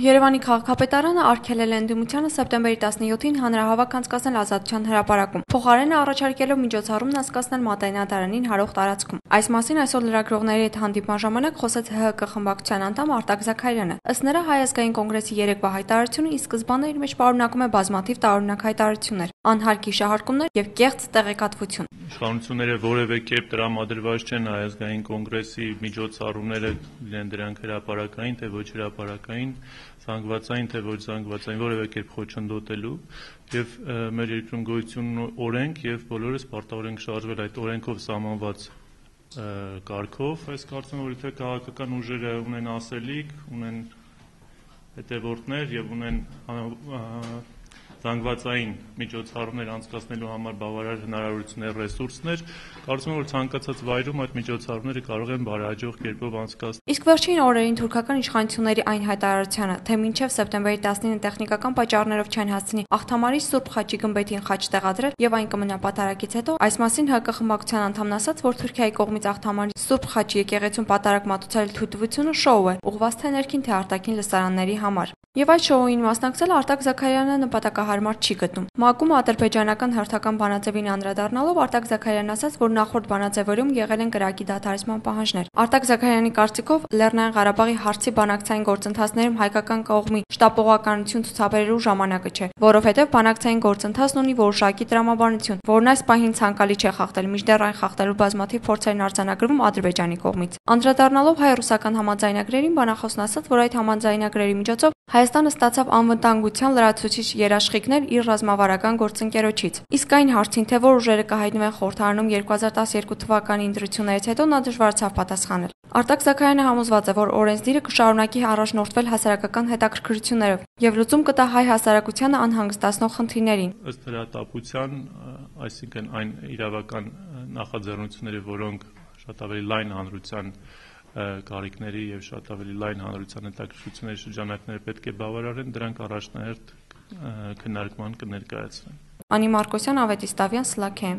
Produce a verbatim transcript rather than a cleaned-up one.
Երևանի քաղաքապետարանը արգելել է ընդդիմությանը սեպտեմբերի տասնյոթին հանրահավաք անցկացնել Ազատության հրապարակում, փոխարենը առաջարկելով միջոցառումն անցկացնել Մատենադարանին հարող տարածքում։ Այս մասին այսօր լրագրողների հետ հանդիպման ժամանակ խոսեց ՀՀԿ խմբակցության անդամ Արտակ Զաքարյանը։ Ըստ նրա, Հայ ազգային կոնգրեսի երեկվա հայտարարությունը ի սկզբանե իր մեջ պարունակում է բազմաթիվ տարօրինակ հայտարարություններ, անհարգ հիշահարկումներ եւ կեղծ տեղեկատվություն։ Իշխանությունները որևէ կերպ տրամադրված չեն Հայ ազգային կոնգրեսի միջոցառումները, լինեն դրանք հրապարակային թե ոչ հրապարակային, զանգվածային թե ոչ զանգվածային, որևէ կերպ խոչընդոտելու եւ մեր երկրում գոյություն ունի օրենք եւ բոլորս պարտավոր ենք շարժվել այդ օրենքով սահմանված կարգով։ Այս կարծում եմ, որ եթե քաղաքական ուժերը ունեն ասելիք, ունեն հետևորդներ եւ ունեն զանգվածային միջոցառումներ անցկացնելու համար բավարար հնարավորություններ, ռեսուրսներ, կարծում եմ, որ ցանկացած վայրում այդ միջոցառումները կարող են բարեհաջող կերպով անցկացնել։ Իսկ վերջին օրերին թուրքական իշխանությունների այն հայտարարությանը, թե մինչև սեպտեմբերի տասնինը տեխնիկական պատճառներով չեն հասցնի Աղթամարի Սուրբ Խաչի գմբեթին խաչ տեղադրել եւ այն կմնա պատարագից հետո, այս մասին ՀԿ խմբակցության անդամն ասաց, որ Թուրքիայի կողմից Աղթամարի Սուրբ Խաչի եկեղեցուն պատարագ մատուցել թույլտվությունը շոու է, ուղղված թե ներքին թե արտաքին լսարանների համար։ Եվ այդ շոուին մասնակցել Արտակ Զաքարյանը նպատակահարմար չի գտնում։ ՄԱԿ-ում ադրբեջանական հերթական բանաձևին անդրադառնալով Արտակ Զաքարյանն ասաց, որ նախորդ բանաձևերում եղել են կրակի դադարեցման պահանջներ։ Արտակ Զաքարյանի կարծիքով Լեռնային Ղարաբաղի հարցի բանակցային գործընթացներում հայկական կողմի շտապողականություն ցուցաբերելու ժամանակը չէ, որովհետև բանակցային գործընթացն ունի որոշակի տրամաբանություն, որն այս պահին ցանկալի չէ խախտել, մինչդեռ այն խախտելու բազմաթիվ փորձեր արձանագրվում Ադրբեջանի կողմից։ Անդրադառնալով հայ-ռուսական համաձայնագրերին, բանախոսն ասաց, որ այդ համաձայնագրերի միջոցով Հայաստանը ստացավ անվտանգության լրացուցիչ երաշխիքներ իր ռազմավարական գործընկերոջից։ Իսկ այն հարցին, թե որ ուժերը կհայտնվեն խորհրդարանում երկու հազար տասներկու թվականի ընտրություններից հետո, նա դժվարացավ պատասխանել։ Արտակ Զաքարյանը համոզված է, որ օրենսդիրը կշարունակի առաջնորդվել հասարակական հետաքրքրություններով եւ լուծում կտա հայ հասարակությանը անհանգստացնող խնդիրներին։ Ըստ հրատապության, այսինքն այն իրավական նախաձեռնությունները, որոնք շատ ավելի լայն հանրության կարիքների եւ շատ ավելի լայն հանրության հետաքրքրությունների շրջանակները պետք է բավարարեն, դրանք առաջնահերթ քննարկման կներկայացվեն։ Անի Մարկոսյան, Ավետիս Տավյան, Սլաքե։